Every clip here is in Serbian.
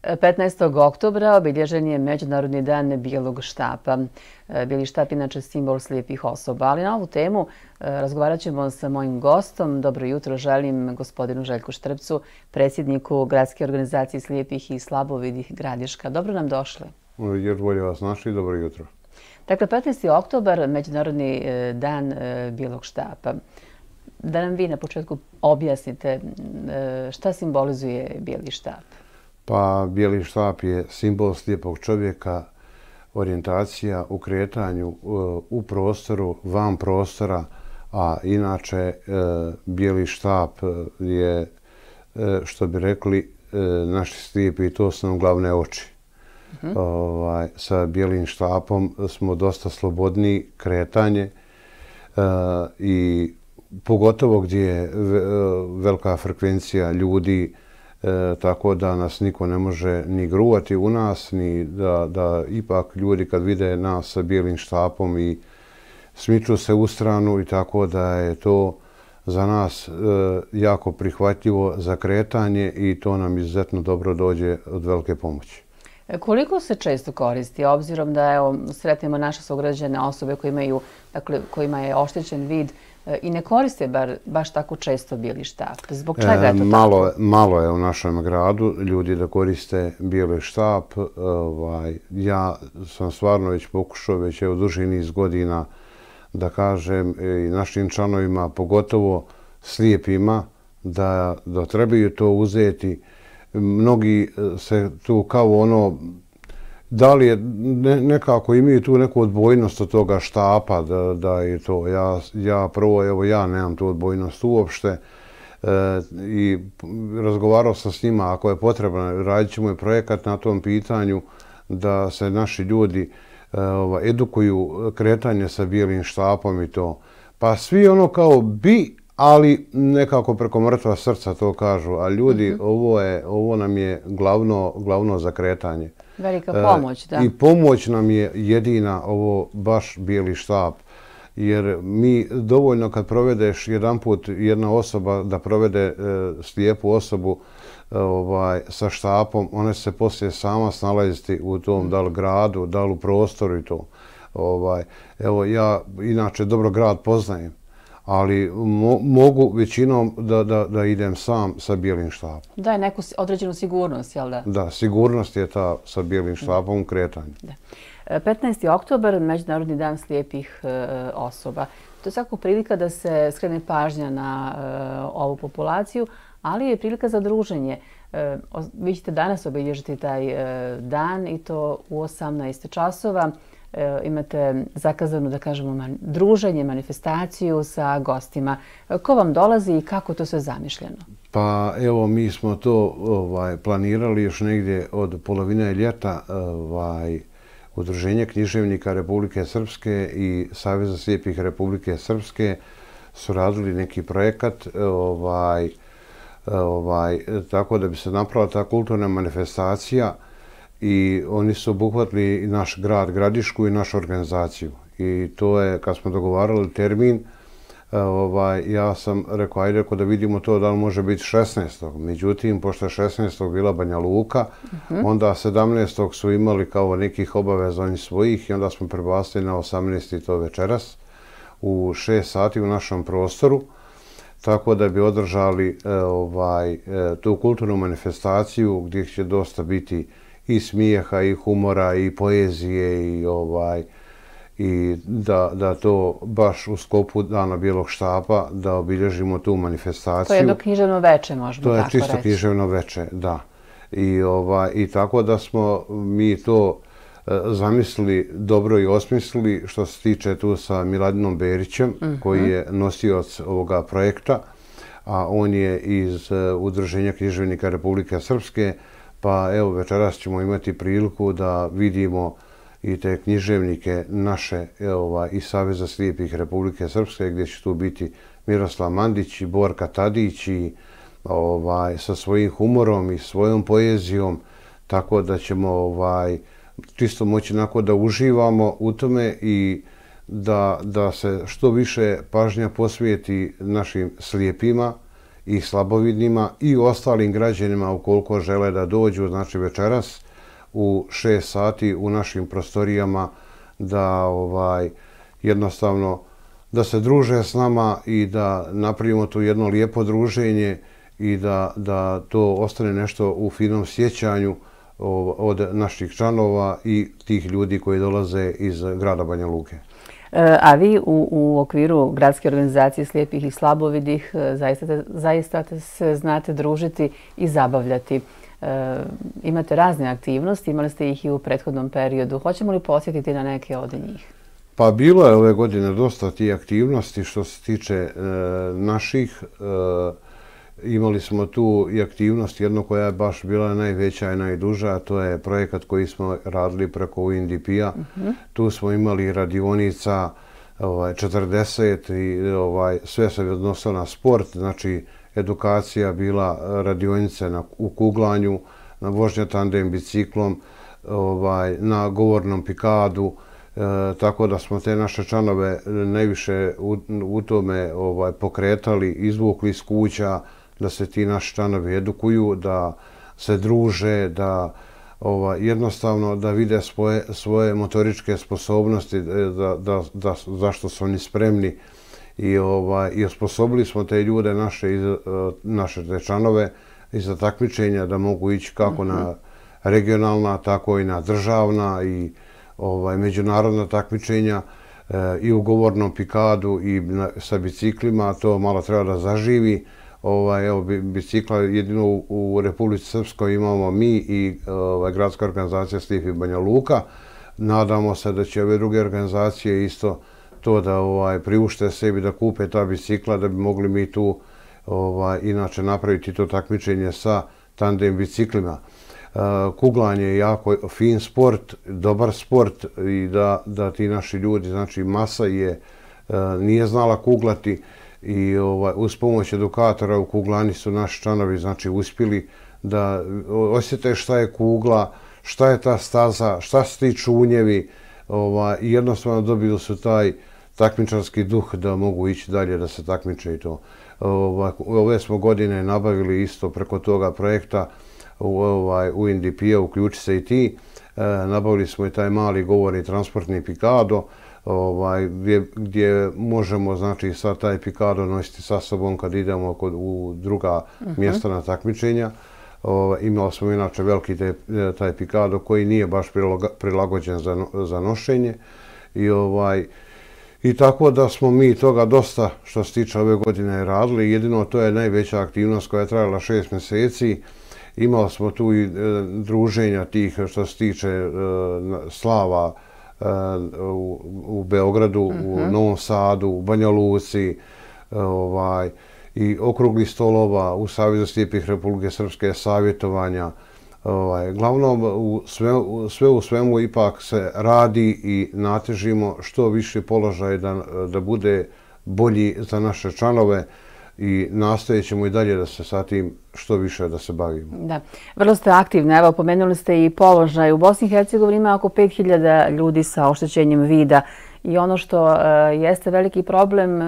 15. oktobra obilježen je Međunarodni dan bijelog štapa. Bijeli štap inače simbol slijepih osoba, ali na ovu temu razgovarat ćemo sa mojim gostom. Dobro jutro želim gospodinu Željku Štrpcu, predsjedniku Gradske organizacije slijepih i slabovidih Gradiška. Dobro nam došli. Još bolje vas našli, dobro jutro. Dakle, 15. oktobar, Međunarodni dan bijelog štapa. Da nam vi na početku objasnite šta simbolizuje bijeli štap. Pa bijeli štap je simbol slijepog čovjeka, orijentacija u kretanju u prostoru, van prostora, a inače bijeli štap je, što bi rekli naši slijepi, to su nam glavne oči. Sa bijelim štapom smo dosta slobodni kretanje i pogotovo gdje je velika frekvencija ljudi, tako da nas niko ne može ni gruvati u nas, ni da ipak ljudi kad vide nas sa bijelim štapom i smiču se u stranu, i tako da je to za nas jako prihvatljivo za kretanje i to nam izuzetno dobro dođe od velike pomoći. Koliko se često koristi, obzirom da sretnemo naše sugrađane osobe kojima je oštećen vid i ne koriste baš tako često bijeli štap? Zbog čega je to tako? Malo je u našem gradu ljudi da koriste bijeli štap. Ja sam stvarno već pokušao, već je u duži niz godina, da kažem i našim članovima, pogotovo slijepima, da trebaju to uzeti. Mnogi se tu kao da li je nekako imaju tu neku odbojnost od toga štapa, da je to. Ja nemam tu odbojnost uopšte i razgovarao sam s njima, ako je potrebno, radit ćemo i projekat na tom pitanju da se naši ljudi edukuju kretanje sa bijelim štapom i to. Pa svi kao bi, ali nekako preko mrtva srca to kažu, a ljudi, ovo nam je glavno za kretanje. Velika pomoć, da. I pomoć nam je jedina ovo baš bijeli štap, jer mi dovoljno kad provedeš jedanput jedna osoba da provede slijepu osobu sa štapom, ona se poslije sama snalaziti u tom da li gradu, da li u prostoru i to. Evo, ja inače dobro grad poznajem, ali mogu većinom da idem sam sa bijelim štapom. Daje neku određenu sigurnost, jel da? Da, sigurnost je ta sa bijelim štapom u kretanju. 15. oktobar, Međunarodni dan slijepih osoba. To je svakako prilika da se skrene pažnja na ovu populaciju, ali je prilika za druženje. Vi ćete danas obilježiti taj dan i to u 18 časova. Imate zakazano, da kažemo, druženje, manifestaciju sa gostima. Ko vam dolazi i kako to sve zamišljeno? Pa evo, mi smo to planirali još negdje od polovine ljeta. Udruženje književnika Republike Srpske i Saveza slijepih Republike Srpske su radili neki projekat tako da bi se napravila ta kulturna manifestacija, i oni su obuhvatili i naš grad Gradišku i našu organizaciju. I to je, kad smo dogovarali termin, ja sam rekao, ajde da vidimo to da li može biti 16. Međutim, pošto je 16. bila Banja Luka, onda 17. su imali kao nekih obaveza oni svojih i onda smo prebacili na 18. to večeras u 6 sati u našem prostoru, tako da bi održali tu kulturnu manifestaciju gdje će dosta biti i smijeha, i humora, i poezije, i da to baš u sklopu Dana bijelog štapa da obilježimo tu manifestaciju. To je jedno književno veče, možemo tako reći. To je čisto književno veče, da. I tako da smo mi to zamislili dobro i osmislili, što se tiče tu sa Miladinom Berićem, koji je nosioc ovoga projekta, a on je iz Udruženja književnika Republike Srpske. Pa evo, večeras ćemo imati priliku da vidimo i te književnike naše iz Saveza slijepih Republike Srpske, gdje će tu biti Miroslav Mandić i Borka Tadić sa svojim humorom i svojom poezijom, tako da ćemo čisto moći da uživamo u tome i da se što više pažnja posvijeti našim slijepima i slabovidnima i ostalim građanima ukoliko žele da dođu, znači večeras u 6 sati u našim prostorijama da jednostavno da se druže s nama i da napravimo tu jedno lijepo druženje i da to ostane nešto u finom sjećanju od naših članova i tih ljudi koji dolaze iz grada Banja Luke. A vi u okviru gradske organizacije slijepih i slabovidih zaista se znate družiti i zabavljati. Imate razne aktivnosti, imali ste ih i u prethodnom periodu. Hoćemo li posjetiti na neke od njih? Pa bilo je ove godine dosta tih aktivnosti što se tiče naših. Imali smo tu i aktivnost, jedno koja je baš bila najveća i najduža, a to je projekat koji smo radili preko UNDP-a. Tu smo imali radionica 40 i sve se odnosilo na sport, znači edukacija bila radionice u kuglanju, na vožnja tandem biciklom, na govornom pikadu, tako da smo te naše članove najviše u tome pokretali, izvukli iz kuća, da se ti naši članovi edukuju, da se druže, da jednostavno da vide svoje motoričke sposobnosti, zašto su oni spremni i osposobili smo te ljude, naše te članove i za takmičenja da mogu ići kako na regionalna, tako i na državna i međunarodna takmičenja i u govornom pikadu i sa biciklima. To malo treba da zaživi. Evo, bicikla jedino u Republici Srpskoj imamo mi i gradska organizacija Slijepih Banja Luka. Nadamo se da će ove druge organizacije isto to da priušte sebi da kupe ta bicikla, da bi mogli mi tu inače napraviti to takmičenje sa tandem biciklima. Kuglanje je jako fin sport, dobar sport i da ti naši ljudi, znači masa nije znala kuglati i uz pomoć edukatora u kuglani su naši članovi znači uspjeli da osjete šta je kugla, šta je ta staza, šta su ti čunjevi i jednostavno dobili su taj takmičarski duh da mogu ići dalje da se takmiče i to. Ove smo godine nabavili isto preko toga projekta UNDP-a, uključi se i ti. Nabavili smo i taj mali govorni transportni pikado gdje možemo znači sad taj pikado nositi sa sobom kad idemo u druga mjesta na takmičenja. Imali smo inače veliki taj pikado koji nije baš prilagođen za nošenje i tako da smo mi toga dosta što se tiče ove godine radili. Jedino to je najveća aktivnost koja je trajala 6 mjeseci. Imali smo tu i druženja tih što se tiče slava u Beogradu, u Novom Sadu, u Banja Luci i okrugli stolova u Savezu slijepih Republike Srpske, savjetovanja. Glavnom, sve u svemu ipak se radi i natežimo što više položaj da bude bolji za naše članove i nastojat ćemo i dalje da se sa tim što više da se bavimo. Da, vrlo ste aktivni. Evo, pomenuli ste i položaj. U Bosni i Hercegovini ima oko 5000 ljudi sa oštećenjem vida i ono što jeste veliki problem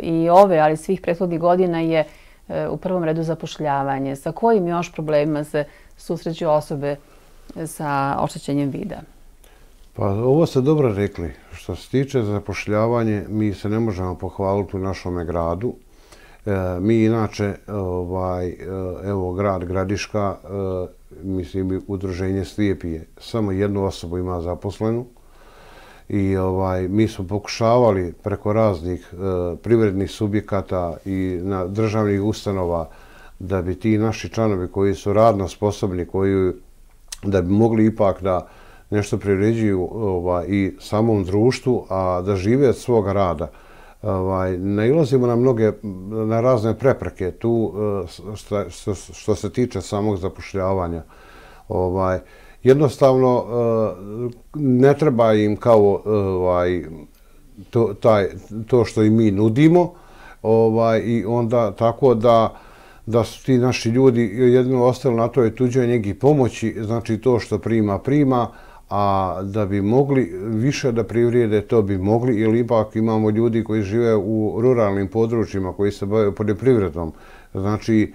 i ove, ali svih prethodnih godina je u prvom redu zapošljavanje. Sa kojim još problemima se susreću osobe sa oštećenjem vida? Pa ovo ste dobro rekli. Što se tiče zapošljavanje, mi se ne možemo pohvaliti u našome gradu. Mi inače, evo grad Gradiška, mislim udruženje slijepije, samo jednu osobu ima zaposlenu i mi smo pokušavali preko raznih privrednih subjekata i državnih ustanova da bi ti naši članovi koji su radno sposobni, da bi mogli ipak da nešto priređuju i samom društvu, a da žive od svoga rada. Nailazimo na razne prepreke tu što se tiče samog zapošljavanja. Jednostavno ne treba im kao to što i mi nudimo i onda tako da su ti naši ljudi jedino ostali na toj tuđoj njegi pomoći, znači to što prima, a da bi mogli više da privrijede, to bi mogli, jer ipak imamo ljudi koji žive u ruralnim područjima, koji se bave poljoprivredom, znači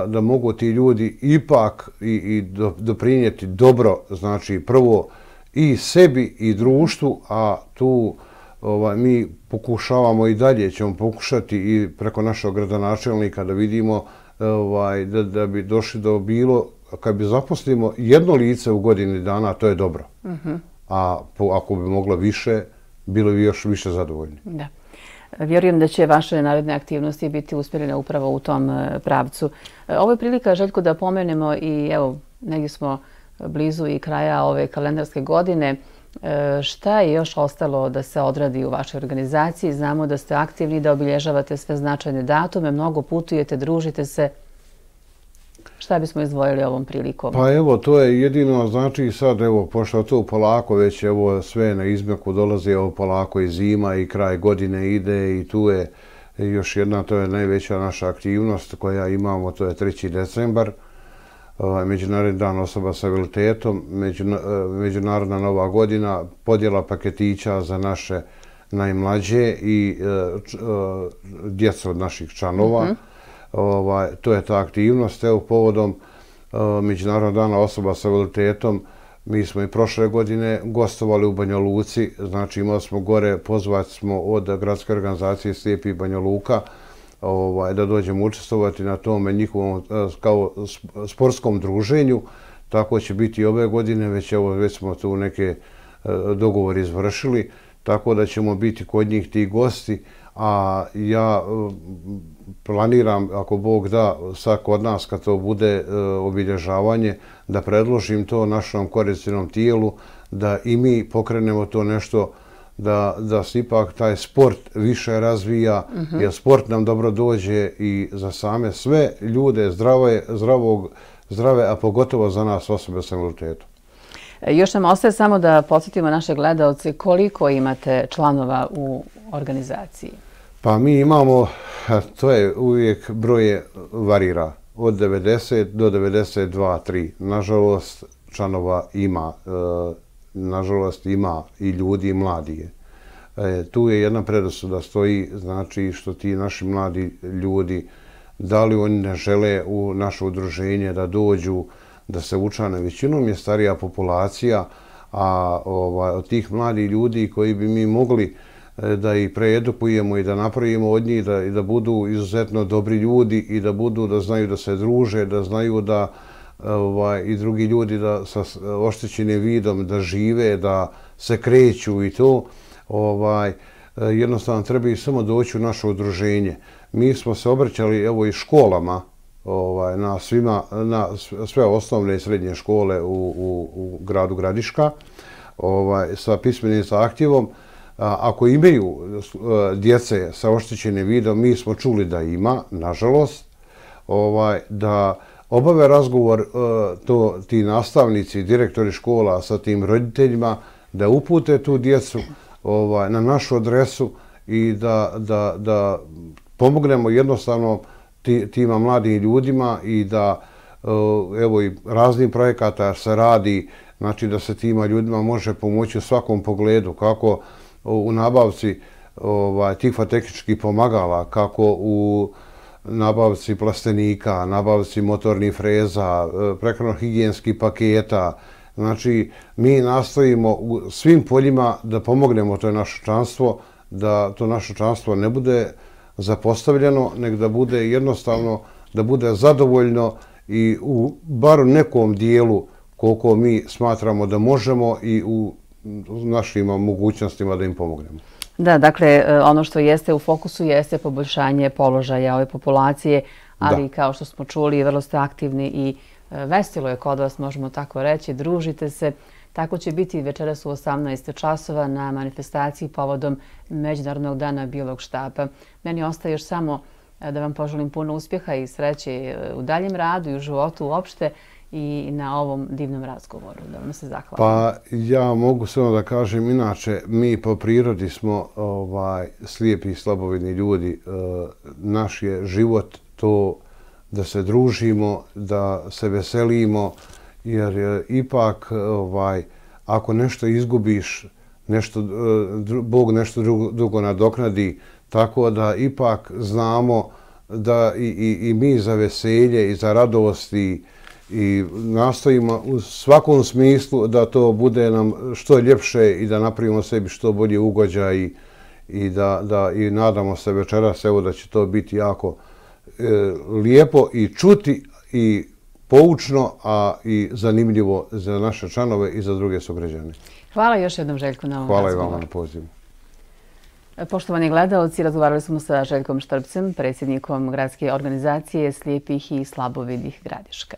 da mogu ti ljudi ipak i doprinijeti dobro, znači prvo i sebi i društvu, a tu mi pokušavamo i dalje ćemo pokušati i preko našeg gradonačelnika da vidimo da bi došli do bilo, kad bi zaposlimo jedno lice u godini dana, to je dobro. A ako bi moglo više, bilo bi još više zadovoljni. Da. Vjerujem da će vaše naredne aktivnosti biti usmjerene upravo u tom pravcu. Ovo je prilika, Željko, da pomenemo i evo, negdje smo blizu i kraja ove kalendarske godine. Šta je još ostalo da se odradi u vašoj organizaciji? Znamo da ste aktivni, da obilježavate sve značajne datume, mnogo putujete, družite se. Šta bismo izdvojili ovom prilikom? Pa evo, to je jedino, znači sad, evo, pošto to polako već, evo, sve na izmeku dolazi, evo, polako i zima i kraj godine ide i tu je još jedna, to je najveća naša aktivnost koja imamo, to je 3. decembar, Međunarodni dan osoba sa invaliditetom, Međunarodna nova godina, podjela paketića za naše najmlađe i djecu od naših članova. To je ta aktivnost. Evo, povodom Međunarodnog dana osoba sa invaliditetom, mi smo i prošle godine gostovali u Banja Luci, znači imali smo gore, pozvati smo od gradske organizacije Slijepi Banja Luka, da dođemo učestvovati na tome njihovom kao sportskom druženju. Tako će biti i ove godine, već smo tu neke dogovore izvršili, tako da ćemo biti kod njih ti gosti, a ja planiram, ako Bog da, sad kod nas kad to bude obilježavanje, da predložim to našom korisnom tijelu, da i mi pokrenemo to nešto, da se ipak taj sport više razvija, jer sport nam dobro dođe i za same sve ljude zdrave, a pogotovo za nas osobe sa invaliditetom. Još nam ostaje samo da podsjetimo naše gledalce koliko imate članova u organizaciji. Pa mi imamo, to je uvijek broje varira, od 90 do 92-3. Nažalost, članova ima. Nažalost, ima i ljudi i mladi. Tu je jedna predrasuda stoji, znači što ti naši mladi ljudi, da li oni ne žele u naše udruženje da dođu, da se učlane. Većinom je starija populacija, a od tih mladih ljudi koji bi mi mogli da ih preedukujemo i da napravimo od njih i da budu izuzetno dobri ljudi i da znaju da se druže, da znaju da i drugi ljudi da sa oštećenim vidom da žive, da se kreću i to. Jednostavno treba i samo doći u naše udruženje. Mi smo se obraćali evo i školama, na sve osnovne i srednje škole u gradu Gradiška sa pismenim zahtjevom. Ako imaju djece sa oštećenim vidom, mi smo čuli da ima, nažalost, da obave razgovor ti nastavnici, direktori škola sa tim roditeljima, da upute tu djecu na našu adresu i da pomognemo jednostavno tima mladim ljudima i da evo i raznih projekata se radi, znači da se tima ljudima može pomoći u svakom pogledu, kako u nabavci tifotehničkih pomagala, kako u nabavci plastenika, nabavci motornih freza, prehrano-higijenskih paketa. Znači, mi nastojimo u svim poljima da pomognemo to naše članstvo, da to naše članstvo ne bude zapostavljeno, nego da bude jednostavno, da bude zadovoljno i u bar nekom dijelu koliko mi smatramo da možemo i u našim mogućnostima da im pomognemo. Da, dakle, ono što jeste u fokusu jeste poboljšanje položaja ove populacije, ali kao što smo čuli, vrlo ste aktivni i veselo je kod vas, možemo tako reći, družite se. Tako će biti večeras u 18 časova na manifestaciji povodom Međunarodnog dana bijelog štapa. Meni ostaje još samo da vam poželim puno uspjeha i sreće u daljem radu i u životu uopšte i na ovom divnom razgovoru. Da vam se zahvalim. Pa ja mogu samo da kažem, inače mi po prirodi smo slijepi i slabovidni ljudi. Naš je život to da se družimo, da se veselimo, jer ipak ako nešto izgubiš, Bog nešto drugo nadoknadi, tako da ipak znamo da i mi za veselje i za radost i nastojimo u svakom smislu da to bude nam što ljepše i da napravimo sebi što bolje ugođaj i i nadamo se večeras evo da će to biti jako lijepo i čuti i poučno, a i zanimljivo za naše članove i za druge sugrađane. Hvala još jednom, Željko, na ovom razgovoru. Hvala i vama na pozivu. Poštovani gledalci, razgovarali smo sa Željkom Štrbcem, predsjednikom gradske organizacije slijepih i slabovidih Gradiška.